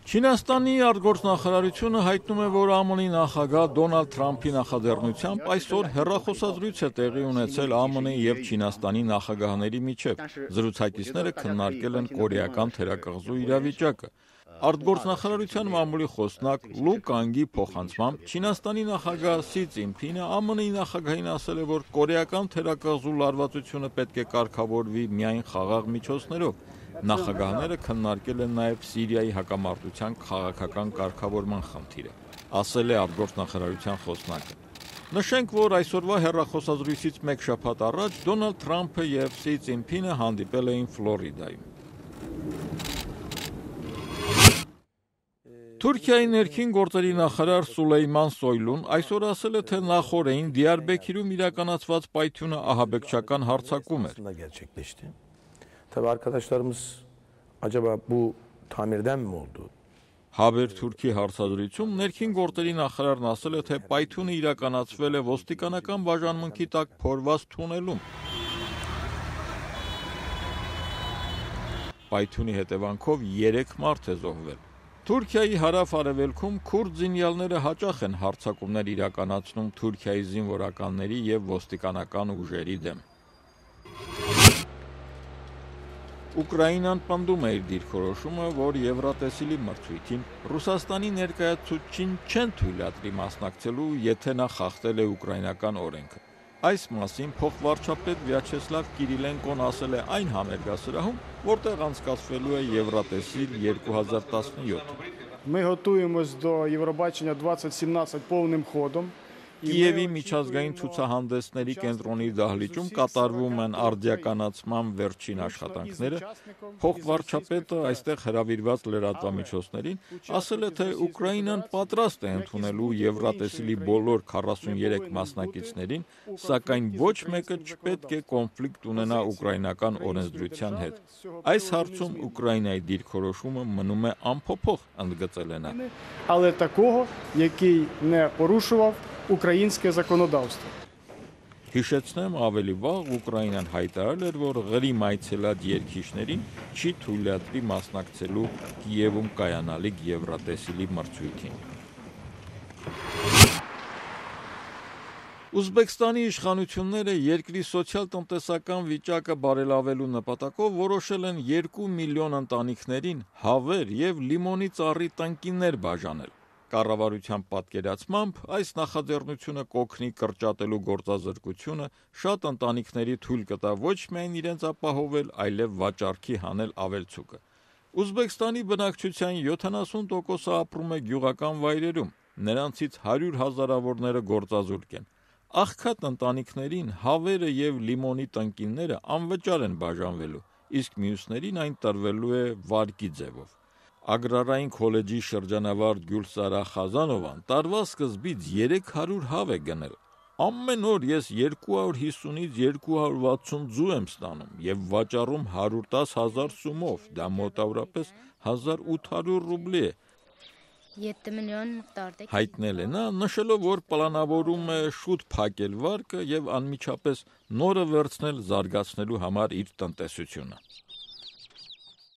Չինաստանի արտգործնախարարությունը հայտնում է, որ ԱՄՆ-ի նախագահ Դոնալդ Թրամփի նախաձեռնությամբ այսօր հեռախոսազրույց է տեղի ունեցել ԱՄՆ-ի եւ Չինաստանի նախագահների միջեւ։ Զրուցակիցները քննարկել են կորեական թերակղզու իրավիճակը։ Արտգործնախարարության մամուլի խոսնակ Լու Կանգի փոխանցմամբ Չինաստանի նախագահ Սի Ցզինփինը ԱՄՆ-ի նախագահին ասել է, որ կորեական թերակղզու լարվածությունը պետք է կարգավորվի միայն խաղաղ միջոցներով։ Նախագահները քննարկել են նաև Սիրիայի հակամարտության քաղաքական կարգավորման խնդիրը, ասել է արտգործնախարարության խոսնակը։ Նշենք, որ այսօրվա հեռախոսազրույցից մեկ շաբաթ առաջ Դոնալդ Թրամփը եւ Սի Ցզինփինը հանդիպել էին Ֆլորիդայում։ Թուրքիայի ներքին գործերի նախարար Սուլեյման Սոյլուն այսօր ասել է, թե նախորդին Դիարբեքիրում իրականացված պայթյունը ահաբեկչական հարձակում էր։ Tabii arkadaşlarımız acaba bu tamirden mi oldu? Haber Թուրքի հարցազրույցում ներքին գործերի նախարարն ասել է, թե պայթյունը իրականացվել է ոստիկանական բաժանմունքի տակ փորված թունելում։ Պայթյունի հետևանքով 3 մարդ է զոհվել։ Թուրքիայի հարավ-արևելքում քուրդ զինյալները հաճախ են հարձակումներ իրականացնում Թուրքիայի զինվորականների եւ ոստիկանական ուժերի դեմ։ Ուկրաինան պնդում է իր դիրքորոշումը, որ Եվրատեսիլի մրցույթին Ռուսաստանի ներկայացուցչին չեն թույլատրի մասնակցելու, եթե նա խախտել է ուկրաինական օրենքը։ Այս մասին փոխվարչապետ Վյաչեսլավ Կիրիլենկոն ասել է այն համերգասրահում, որտեղ անցկացվելու է Եվրատեսիլ 2017։ Ми готуємось до Євробачення 2017 повним ходом. Կիևի միջազգային ցուցահանդեսների կենտրոնի դահլիճում կատարվում են արդիականացման վերջին աշխատանքները։ Փոխվարչապետը այստեղ հրավիրված լրատվամիջոցներին ասել է, թե Ուկրաինան պատրաստ է ընդունելու Եվրատեսիլի բոլոր 43 մասնակիցներին, սակայն ոչ մեկը չպետք է կոնֆլիկտ ունենա ուկրաինական օրենսդրության հետ։ Այս հարցում Ուկրաինայի դիրքորոշումը մնում է անփոփոխ, ընդգծել է նա։ Але такого, який не порушував українське законодавство. Հիշեցնեմ, ավելի վաղ Ուկրաինան հայտարարել էր, որ Ղրիմ այցելած երկիշներին չի թույլատրի մասնակցելու Կիևում կայանալիք Եվրատեսիլի մրցույթին։ Ուզբեկստանի իշխանությունները երկրի սոցիալ-տնտեսական վիճակը բարելավելու նպատակով որոշել են 2 միլիոն ընտանիքներին հավեր եւ լիմոնի ծառի տնկիներ բաժանել։ Կառավարության պատկերացմամբ այս նախաձեռնությունը կօգնի կրճատելու գործազրկությունը, շատ ընտանիքների թույլ կտա ոչ միայն իրենց ապահովել, այլև վաճառքի հանել ավելցուկը։ Ուզբեկստանի բնակչության 70%-ը ապրում է գյուղական վայրերում, նրանցից 100 հազարավորները գործազուրկ են։ Աղքատ ընտանիքներին հավերը եւ լիմոնի տնկիները անվճար են բաժանվելու, իսկ մյուսներին այն տրվելու է վարկի ձևով։ Ագրարային քոլեջի շրջանավարտ Գյուլսարա Խազանովան տարվա սկզբից 300 հավ է գնել։ Ամեն օր ես 250-ից 260 ձու եմ ստանում եւ վաճառում 110,000 սումով, դա մոտավորապես 1800 ռուբլի է։ 7 միլիոն մկդարդի Հայտնել է նա, նշելով, որ պլանավորում է շուտ փակել վարկը եւ անմիջապես նորը վերցնել զարգացնելու համար իր տնտեսությունը։